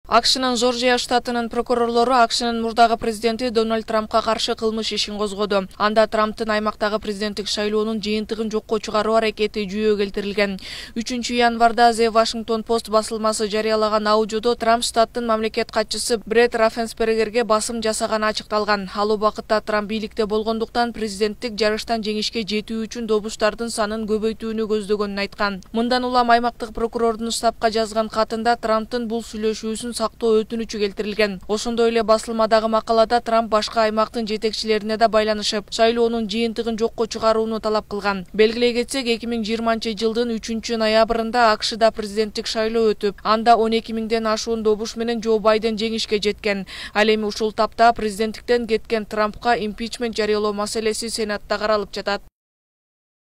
AQShnын Жоржия штатынын прокурорлору AQShnын мурдагы президенти Дональд Трампка каршы кылмыш ишин козгоду. Анда Трамптын аймактагы президенттик шайлоонун жыйынтыгын жокко чыгаруу аракети жүйө келтирилген. 3 январда The Washington Post басылмасы жарыялаган аудиодо Трамп штаттын мамлекет катчысы Бред Раффенсбергерге басым жасаганы ачыкталган. Ал убакытта Трамп бийликте болгондуктан президенттик жарыштан жеңишке жетүү үчүн добуштардын санын көбөйтүүнү көздөгөнүн айткан. Мындан улам аймактык прокурордун штабка жазган катында Трамптын бул сүйлөшүүсүн сактоо өтүнүчү келтирилген. Ошондой эле басылмадагы макалада Трамп башка аймактын жетекчилерине да байланышып, шайлоонун жыйынтыгын жокко чыгарууну талап кылган. Белгилей кетсек, 2020-жылдын 3-ноябрында AQShда президенттик шайлоо өтүп, анда 12 миңден ашуун добуш менен Джо Байден жеңишке жеткен. Ал эми ушул тапта президенттиктен кеткен Трампка импичмент жарыялоо маселеси Сенатта каралып жатат.